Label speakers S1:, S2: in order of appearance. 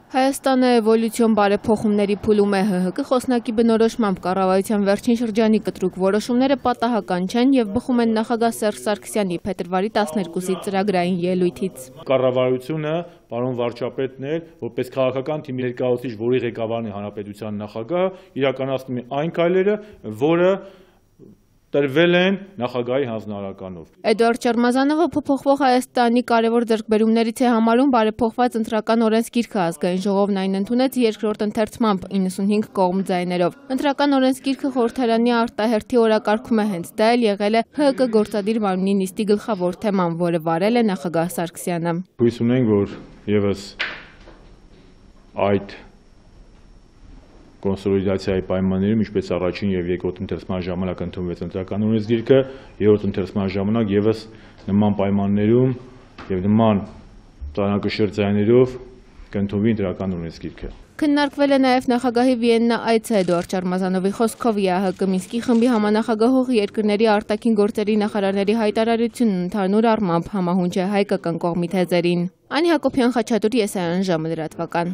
S1: Հայաստանը էվոլյուցիոն բարեփոխումների փուլում է ՀՀԿ խոսնակի բնորոշմամբ կառավարության վերջին շրջանի կտրուկ որոշումները պատահական չեն եւ բխում են նախագահ Սերժ Սարգսյանի փետրվարի 12-ի ծրագրային ելույթից։
S2: Կառավարությունը, պարոն վարչապետն էր, որպես քաղաքական թիմի ներկայացուցիչ, որի ղեկավարն է հանրապետության նախագահը, իրականացնում է այն քայլերը, որը տրվել են նախագահի հանձնարարականով։
S1: Էդուարդ Շարմազանովը փոփոխվող Հայաստանի կարևոր ձեռքբերումներից է համարում բարեփոխված ընտրական օրենսգիրքը, ազգային ժողովն այն ընդունեց երկրորդ ընթերցմամբ 95 կողմ ձայներով։ Ընտրական օրենսգիրքը խորհրդարանի արտահերթի օրակարգում է, հենց դա էլ եղել է ՀՀԿ գործադիր մարմնի նիստի գլխավոր թեման, որը վարել է նախագահ Սարգսյանը։
S2: Հույս ունենք, որ եւս այդ կոնսոլիդացիայի պայմաններում, ինչպես առաջին եւ երկրորդ ընթերցման ժամանակ ընդունվեց ընտրական օրենսգիրքը, երրորդ ընթերցման ժամանակ եւս նման պայմաններում եւ նման ծանրակշիռ ձայներով կընդունվի ընտրական օրենսգիրքը։
S1: Քննարկվել է նաև նախագահի Վիեննա այցը։ Էդուարդ Շարմազանովի խոսքով ԵԱՀԿ Մինսկի խմբի համանախագահող երկրների արտաքին գործերի նախարարների հայտարարությունն ընդհանուր առմամբ համահունչ է հայկական կողմի թեզերին։ Անի Հակոբյան, Խաչատուր, Եսայան ժամը լրատվական։